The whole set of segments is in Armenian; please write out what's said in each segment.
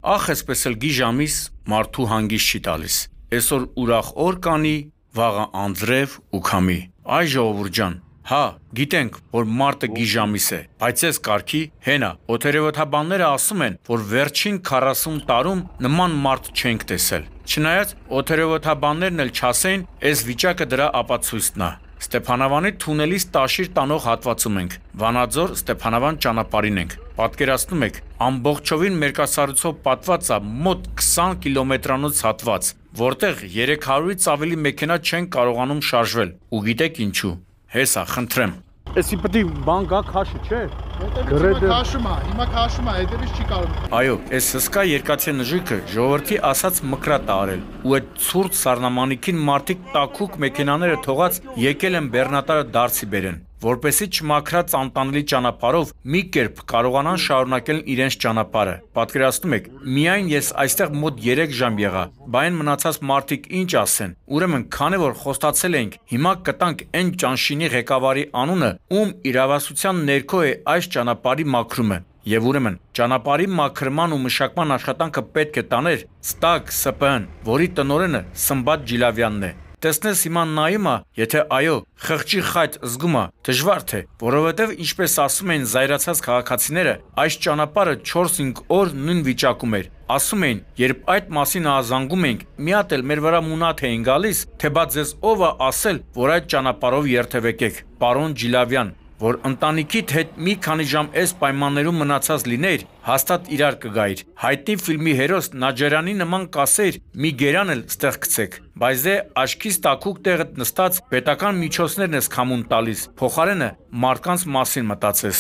Ախ էսպես էլ գի ժամիս մարդու հանգիստ չի տալիս։ Այսօր ուրախ օր կանի, վաղը անձրև ու քամի։ Այ ժողովուրդ ջան, հա, գիտենք, որ մարտը գի ժամիս է, բայց այս կարգի հենա, օդերևոթաբանները ասում են, որ վերջին 40 տարում նման մարտ չենք տեսել։ Չնայած օդերևոթաբաններն էլ չասեն, այս վիճակը դրա ապացույցն է։ Ստեփանավանի թունելից Տաշիր տանող հատվածում ենք, Վանաձոր Ստեփանավան ճանապարհին ենք։ Պատկերացնում եք, ամբողջովին մերկասառույցով պատված է մոտ 20 կիլոմետրանոց հատված, որտեղ 300-ից ավելի մեքենա չեն կարողանում շարժվել։ Ու գիտեք ինչու։ Հեսա, խնդրեմ։ Էսի պետք է բան գա քաշի, չէ՞։ Հիմա քաշում է, հետևից չի կարող։ Այո, այս հսկա երկաթյա նժույգը ժողովրդի ասած մկրատ է արել, ու այդ ցուրտ սառնամանիքին մարդիկ տաքուկ մեքենաները թողած եկել են բեռնատարը դարձի բերեն, որպեսզի չմաքրած անտանելի ճանապարհով մի կերպ կարողանան շարունակել իրենց ճանապարհը։ Պատկերացնում եք, միայն ես այստեղ մոտ 3 ժամ եղա, բայն մնացած մարդիկ ինչ ասեն։ Ուրեմն, քանի որ խոստացել ենք, հիմա կտանք այն ճանշինի ղեկավարի անունը, ում իրավասության ներքո է այս ճանապարհի մաքրումը։ Եվ ուրեմն, ճանապարհի մաքրման ու մշակման աշխատանքը պետք է տաներ Ստակ ՍՊԸ-ն, որի տնօրենը Սմբատ Ջիլավյանն է։ Տեսնես հիմա նայում է, եթե այո, խղճի խայտ զգում է, դժվար թե, որովհետև ինչպես ասում են զայրացած քաղաքացիները, այս ճանապարհը 4-5 օր նույն վիճակում էր։ Ասում էին, երբ այդ մասին ահազանգում ենք, մի հատ էլ մեր վրա մունաթ էին գալիս, թե բա ձեզ ով է ասել, որ այդ ճանապարհով երթևեկեք, պարոն Ջիլավյան, որ ընտանիքիդ հետ մի քանի ժամ այս պայմաններում մնացած լինեիր, հաստատ իրար կգայիր։ Հայտնի ֆիլմի հերոս Նաջարյանի նման կասեիր, մի գերան էլ ստեղ գցեք, բայց դե աչքից տաքուկ տեղը նստած պետական միջոցներն ես քամուն տալիս, փոխարենը մարդկանց մասին մտածես։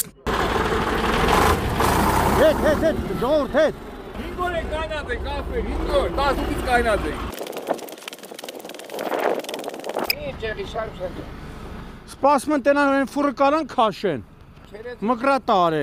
Հետ, ժողովուրդ, հետ։ 5 օր է կայնած է կաֆե, 5 օր, 18-ից կայնած է։ Ինչ եղի շարժ։ Սպասում են տենան են ֆուրը կարան քաշեն։ Մկրատ արե։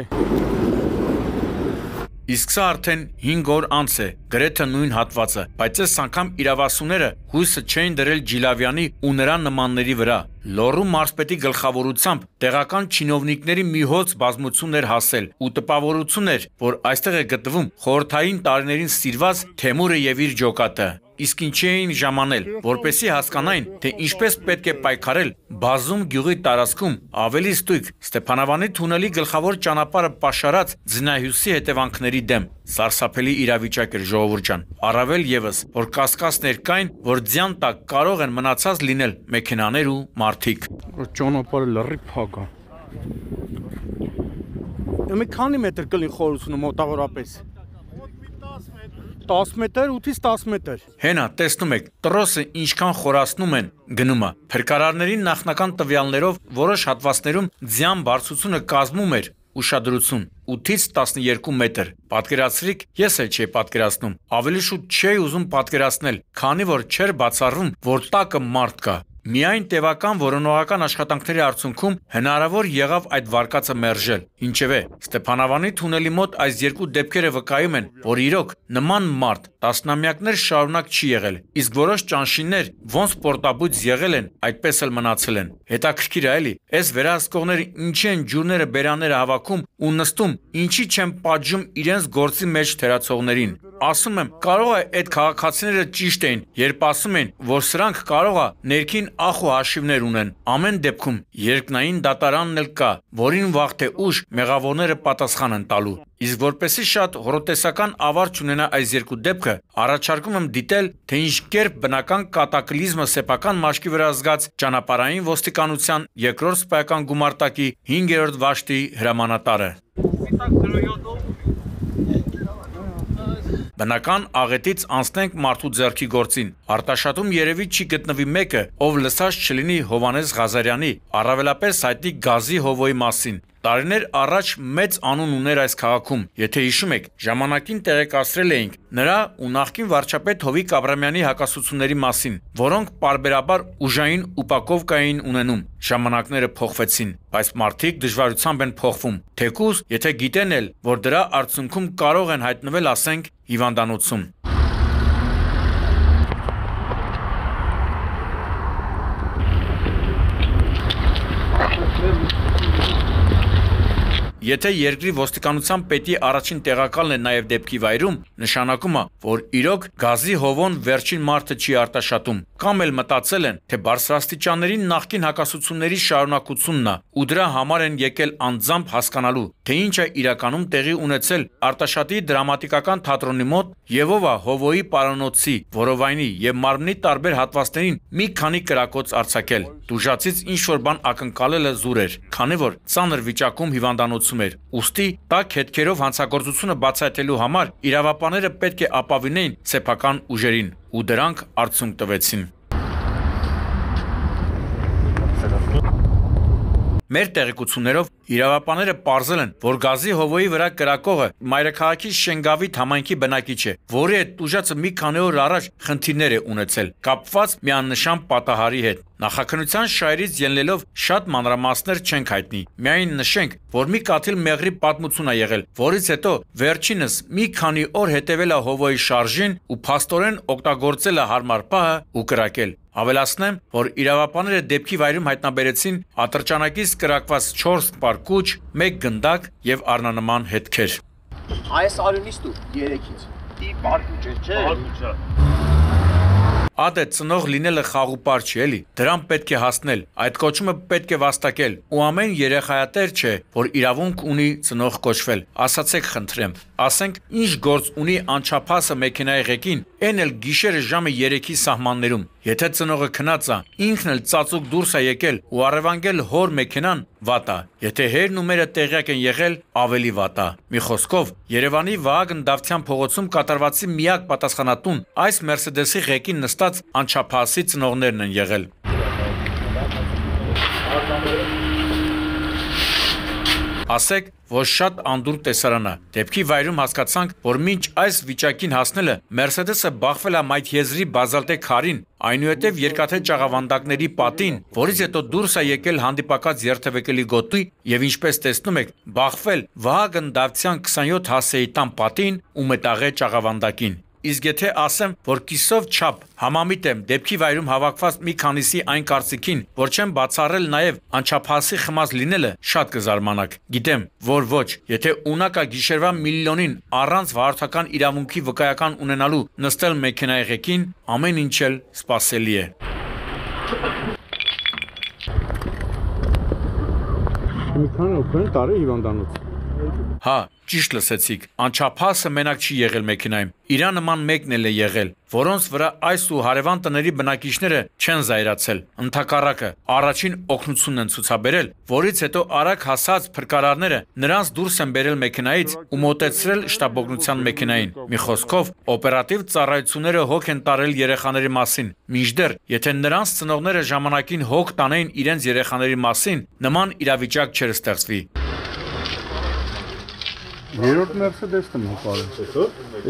Իսկ սա արդեն 5 օր անց է, գրեթե նույն հատվածը, բայց այս անգամ իրավասուները հույսը չէին դրել Ջիլավյանի ու նրա նմանների վրա։ Լոռու մարզպետի գլխավորությամբ տեղական չինովնիկների մի հոծ բազմություն էր հասել ու տպավորություն էր, որ այստեղ է գտնվում խորհրդային տարիներին սիրված Թեմուրը եւ իր ջոկատը։ Իսկ ինչի էին ժամանել, որպեսզի հասկանային, թե ինչպես պետք է պայքարել Բազում գյուղի տարածքում ավելի ստույգ Ստեփանավանի թունելի գլխավոր ճանապարհը պաշարած ձնահյուսի հետևանքների դեմ։ Սարսափելի իրավիճակ էր ժողովուրդ ջան, առավել եւս, որ կասկածներ կային, որ ձյան տակ կարող են մնացած լինել մեքենաներ ու մարդիկ։ Ճանապարհը լրի փակ է։ Մի քանի մետր կլինի խորությունը մոտավորապես։ 10 մետր, 8-ից 10 մետր։ Հենա, տեսնում եք, տրոսը ինչքան խորացնում են գնում է։ Փրկարարների նախնական տվյալներով որոշ հատվածներում ձյան բարձրությունը կազմում էր ուշադրություն 8-ից 12 մետր։ Պատկերացրիք, ես էլ չէի պատկերացնում, ավելի շուտ չէի ուզում պատկերացնել, քանի որ չէր բացառվում, որ տակը մարդ կա։ Միայն տևական որոնողական աշխատանքների արդյունքում հնարավոր եղավ այդ վարկածը մերժել։ Ինչևէ, Ստեփանավանի թունելի մոտ այս երկու դեպքերը վկայում են, որ իրոք նման մարդ տասնամյակներ շարունակ չի եղել, իսկ որոշ ճանշիններ ոնց պորտաբույծ եղել են, այդպես էլ մնացել են։ Հետաքրքիր է էլի, այս վերահսկողները ինչի են ջուրները բերանները հավաքում ու նստում, ինչի չեն պատժում իրենց գործի մեջ թերացողներին։ Ասում եմ, կարող է այդ քաղաքացիները ճիշտ էին, երբ ասում են, որ սրանք կարող է ներքին ախ ու հաշիվներ ունեն։ Ամեն դեպքում երկնային դատարանն էլ կա, որին վաղ թե ուշ մեղավորները պատասխան են տալու։ Իսկ որպեսզի շատ հորոտեսական ավարտ չունենա այս երկու դեպքը, առաջարկում եմ դիտել, թե ինչ կերպ բնական կատակլիզմը սեփական մաշկի վրա զգաց ճանապարհային ոստիկանության երկրորդ սպայական գումարտակի 5-րդ վաշտի հրամանատարը։ Բնական աղետից անցնենք մարդու ձեռքի գործին։ Արտաշատում երևի չի գտնվի մեկը, ով լսած չլինի Հովհաննես Ղազարյանի, առավելապես հայտնի Գազի Հովոյի մասին։ Տարիներ առաջ մեծ անուն ուներ այս քաղաքում, եթե հիշում եք, ժամանակին տեղեկացրել էինք նրա ու նախկին վարչապետ Հովիկ Աբրամյանի հակասությունների մասին, որոնք պարբերաբար ուժային ուպակովկա էին ունենում։ Ժամանակները փոխվեցին, բայց մարդիկ դժվարությամբ են փոխվում, թեկուզ եթե գիտեն էլ, որ դրա արդյունքում կարող են հայտնվել, ասենք, հիվանդանոցում։ Եթե երկրի ոստիկանության պետի առաջին տեղակալն է նաև դեպքի վայրում, նշանակում է, որ իրոք գազի հովոն վերջին մարդը չի արտաշատում, կամ էլ մտածել են, թե բարձրաստիճանների նախկին հակասությունների շարունակությունն է, ու դրա համար են եկել անձամբ հասկանալու, թե ինչ է իրականում տեղի ունեցել Արտաշատի դրամատիկական թատրոնի մոտ եւ ով է հովոյի պարանոցի, որովայնի եւ մարմնի տարբեր հատվածներին մի քանի կրակոց արձակել։ Դուժացից ինչ-որ բան ակնկալելը զուր էր, քանի որ ծանր վիճակում հիվանդանոցում էր։ Ուստի տաք հետքերով հանցագործությունը բացահայտելու համար իրավապանները պետք է ապավինեին սեփական ուժերին, ու դրանք արդյունք տվեցին։ Մեր տեղեկություններով իրավապանները պարզել են, որ գազի հովոյի վրա կրակողը մայրաքաղաքի Շենգավիթ համայնքի բնակիչ է, որի հետ տուժածը մի քանի օր առաջ խնդիրներ է ունեցել, կապված միանշան պատահարի հետ։ Նախաքննության շահերից ելնելով շատ մանրամասներ չենք հայտնի։ Միայն նշենք, որ մի կաթիլ մեղրի պատմություն է եղել, որից հետո վերջինս մի քանի օր հետևել է հովոյի շարժին ու փաստորեն օգտագործել է հարմար պահը ու կրակել։ Ավելացնեմ, որ իրավապանները դեպքի վայրում հայտնաբերեցին ատրճանակից կրակված 4 պարկուճ, 1 գնդակ եւ առնանման հետքեր։ Այս արյունից դու 3-ից։ Ի պարկուճ է, չէ։ Ադե ծնող լինելը խաղուպար չի էլի, դրան պետք է հասնել, այդ կոչումը պետք է վաստակել, ու ամեն երեխայատեր չէ, որ իրավունք ունի ծնող կոչվել, ասացեք խնդրեմ, ասենք ինչ գործ ունի անչափահասը մեքենայի ղեկին, այն էլ գիշերը ժամը 3-ի սահմաններում, եթե ծնողը քնած է, ինքն էլ ծածուկ դուրս է եկել ու առևանգել հոր մեքենան, վատ է, եթե հերն ու մերը տեղյակ են եղել, ավելի վատ է։ Մի խոսքով, Երևանի Վահագն Դավթյան փողոցում կատարվածի միակ պատասխանատուն այս Մերսեդեսի ղեկին նստած անչափահասի ծնողներն են եղել։ Ասեք, որ շատ անդուր տեսարան է։ Դեպքի վայրում հասկացանք, որ մինչ այս վիճակին հասնելը Մերսեդեսը բախվել է մայթեզրի բազալտե քարին, այնուհետև երկաթե ճաղավանդակների պատին, որից հետո դուրս է եկել հանդիպակաց երթևեկելի գոտի եւ ինչպես տեսնում եք, բախվել Վահագն Դավթյան 27 հասեի տան պատին ու մետաղե ճաղավանդակին։ Իսկ եթե ասեմ, որ կիսով չափ համամիտ եմ դեպքի վայրում հավաքված մի քանիսի այն կարծիքին, որ չեմ բացառել նաև անչափահասի խմած լինելը, շատ կզարմանաք։ Գիտեմ, որ ոչ, եթե ունակա գիշերվա միլիոնին առանց վարորդական իրավունքի վկայական ունենալու նստել մեքենայի ղեկին, ամեն ինչ էլ սպասելի է։ Մի քանի օր տարի հիվանդանոց։ Հա, ճիշտ լսեցիք, անչափահասը մենակ չի եղել մեքենայում, իրա նման մեկն էլ է եղել, որոնց վրա այս ու հարևան տների բնակիչները չեն զայրացել, ընդհակառակը առաջին օգնությունն են ցուցաբերել, որից հետո արագ հասած փրկարարները նրանց դուրս են բերել մեքենայից ու մոտեցրել շտաբօգնության մեքենային։ Մի խոսքով, օպերատիվ ծառայությունները հոգ են տարել երեխաների մասին, մինչդեռ եթե նրանց ծնողները ժամանակին հոգ տանեին իրենց երեխաների մասին, նման իրավիճակ չէր ստեղծվի։ Երրորդ Մերսեդեսն եմ հպարել։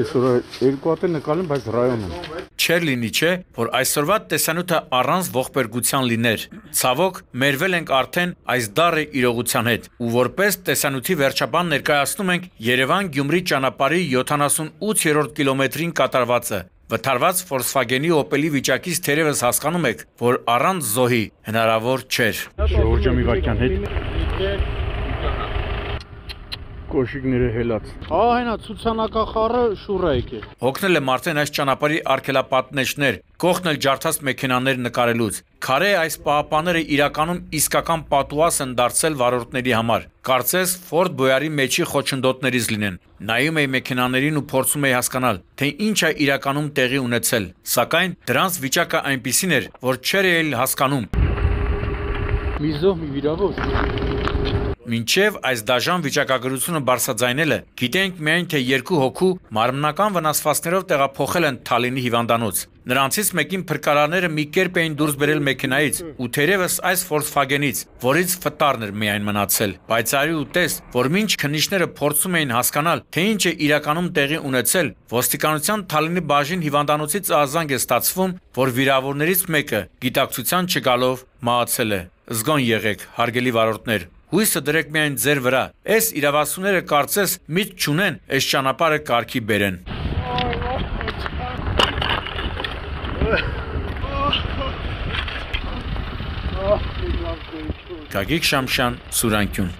Այսօր երկու հատ նկարել, բայց ռայոնում։ Չէր լինի, չէ, որ այսօրվա տեսանյութը առանց ողբերգության լիներ։ Ցավոք, մերվել ենք արդեն այս դառը իրողության հետ, ու որպես տեսանյութի վերջաբան ներկայացնում ենք Երևան-Գյումրի ճանապարհի 78-րդ կիլոմետրին կատարվածը։ Վթարված Volkswagen-ի Opel-ի վիճակից թերևս հասկանում եք, որ առանց զոհի հնարավոր չէր։ Ժորժը մի վայրկյան հետ։ Կոշիկները հելած։ Հենա ցուցանակախառը շուռա եկել։ Հոգնել եմ արդեն այս ճանապարհի արգելապատնեշներ, կողքնել ջարդած մեքենաներ նկարելուց։ Քարե այս պահապանները իրականում իսկական պատուաս են դարձել վարորդների համար։ Կարծես Ford Boyard-ի մեջի խոչընդոտներից լինեն։ Նայում էի մեքենաներին ու փորձում էի հասկանալ, թե ինչ է իրականում տեղի ունեցել։ Սակայն դրանց վիճակը այնպիսին էր, որ չէր էլ հասկանում։ Մի զոհ, մի վիրավոր։ Մինչև այս դաժան վիճակագրությունը բարձրաձայնելը, գիտենք միայն, թե 2 հոգու մարմնական վնասվածքներով տեղափոխել են Թալինի հիվանդանոց։ Նրանցից մեկին փրկարարները մի կերպ էին դուրս բերել մեքենայից ու թերևս այս Volkswagen-ից, որից ֆտարն էր միայն մնացել։ Բայց արի ու տես, որ մինչ քննիչները փորձում էին հասկանալ, թե ինչ է իրականում տեղի ունեցել, ոստիկանության Թալինի բաժին հիվանդանոցից արձանկ է ստացվում, որ վիրավորներից մեկը գիտակցության չգալով մահացել է։ Զգոն եղեք, հարգելի վարորդներ։ Հույսը դրեք միայն ձեր վրա, այս իրավասուները կարծես միտք չունեն, այս ճանապարհը կարգի բերեն։ Գագիկ Շամշյան, Սուրանկյուն։